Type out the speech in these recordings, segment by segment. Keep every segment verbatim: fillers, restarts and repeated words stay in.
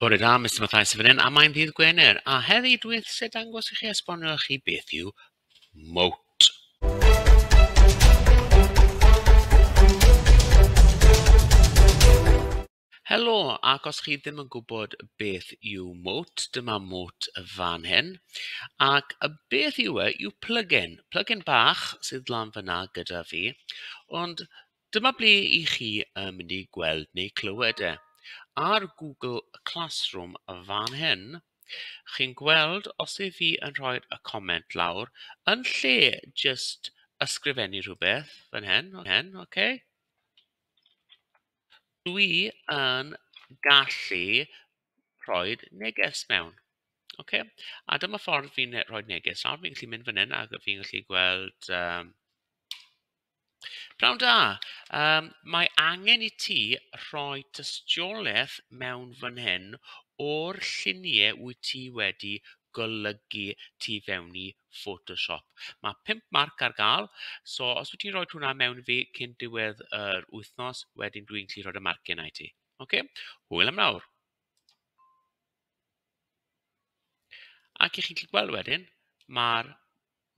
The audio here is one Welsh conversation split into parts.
Bore da, Mister Mathias fan hyn, a mae'n ddydd Gwener, a heddi dwi eisiau dangos i chi, esbonio i chi beth yw Mote. Helo, ac os chi ddim yn gwybod beth yw Mote, dyma Mote fan hyn. Ac y beth yw e yw plugin, plugin bach sydd lan fyna gyda fi, ond dyma ble i chi yn mynd i gweld neu clywed e. Ar Google Classroom fan hyn, chi'n gweld os yw fi yn rhoi y comment lawr, yn lle jyst ysgrifennu rhywbeth fan hyn, hyn, okay? Dwi yn gallu rhoi neges mewn. Okay? A dyma ffordd fi'n rhoi neges. Nawr fi'n gallu mynd fan hyn ac fi'n gallu gweld... Um, Pnawn da, um, mae angen i ti rhoi tystiolaeth mewn fan hyn o'r lluniau wyt ti wedi golygu tu fewn i Photoshop. Mae pump marc ar gael, so os wyt ti'n rhoi hwnna mewn i fi cyn diwedd yr wythnos, wedyn dwi'n gallu rhoi y marciau yna i ti. Okay? Hwyl am nawr. Ac i chi'n gallu gweld wedyn, mae'r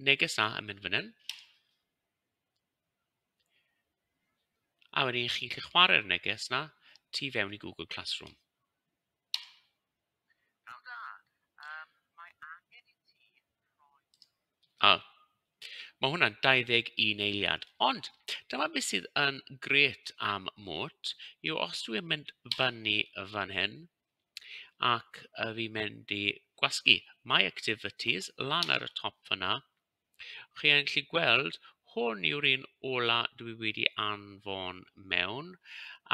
neges na yn mynd fan hyn. A wedyn chi'n gallu chwarae'r neges na tu fewn i Google Classroom. A, mae hwnna'n dau ddeg un eiliad. Ond dyma beth sydd yn grêt am Mote yw os dwi'n mynd fyny fan hyn ac fi'n mynd i gwasgu My Activities lan ar y top fyna, chi'n gallu gweld hwn yw'r un ola dwi wedi anfon mewn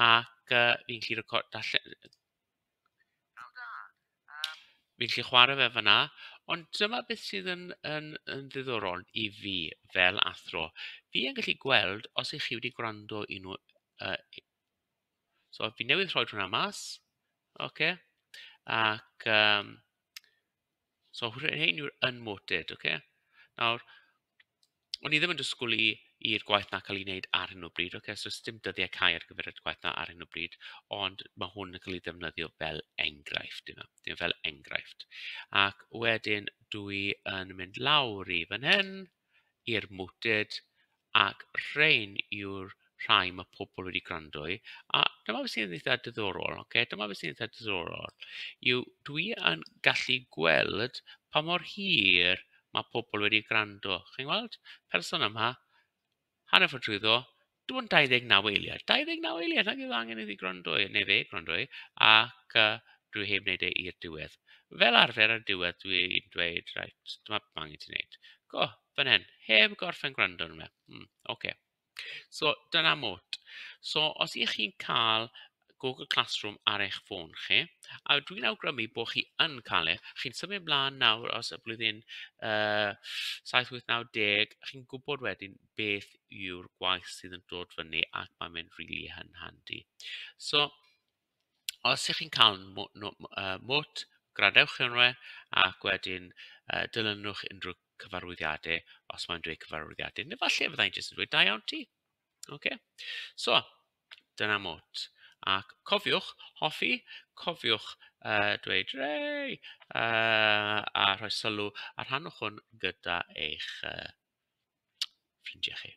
ac uh, fi'n gallu record, darllen, fi'n gallu chwarae fe fyna, ond dyma beth sydd yn, yn, yn ddiddorol i fi fel athro. Fi yn gallu gweld os ych chi wedi gwrando i nhw. Uh, so fi newydd rhoi hwnna mas, okay? Ac um, so hyn yw'r unmoted, okay? Nawr, o'n i ddim yn disgwyl i i'r gwaith na cael ei wneud ar hyn o bryd, okay? So dim dyddiau cau ar gyfer y gwaith na ar hyn o bryd, ond mae hwn yn cael ei ddefnyddio fel enghraifft, yma, dim fel enghraifft. Ac wedyn dwi yn mynd lawr i fan hyn, i'r Moted, ac rhain yw'r rhai mae pobl wedi gwrando i. A dyma beth sy'n eitha diddorol, okay? Dyma beth sy'n eitha diddorol, yw dwi yn gallu gweld pa mor hir mae pobl wedi gwrando. Chi'n gweld? Person yma, hanner ffordd trwyddo, dim ond dau ddeg naw eiliad. dau ddeg naw eiliad, nag yw angen iddi gwrando i, neu fe gwrando i, ac uh, dwi heb wneud e i'r diwedd. Fel arfer ar diwedd, dwi'n dweud, reit, dyma beth mae angen ti wneud. Go, fan hyn, heb gorffen gwrando arno fe. Hmm, okay. So, dyna Mote. So, os ych chi'n cael Google Classroom ar eich ffôn chi, a dwi'n awgrymu bod chi yn cael e, chi'n symud ymlaen nawr os y blwyddyn uh, saith, wyth, naw, deg, chi'n gwybod wedyn beth yw'r gwaith sydd yn dod fyny ac mae'n mynd rili really yn handi. So, os ych chi'n cael Mote, gradewch yn we, ac wedyn uh, dilynwch unrhyw cyfarwyddiadau, os mae'n dweud cyfarwyddiadau, neu falle fyddai'n jyst yn dweud da iawn ti. Okay? So, dyna Mote. Ac cofiwch hoffi, cofiwch uh, dweud rei, uh, a rhoi sylw a rhannwch hwn gyda eich uh, ffrindiau chi.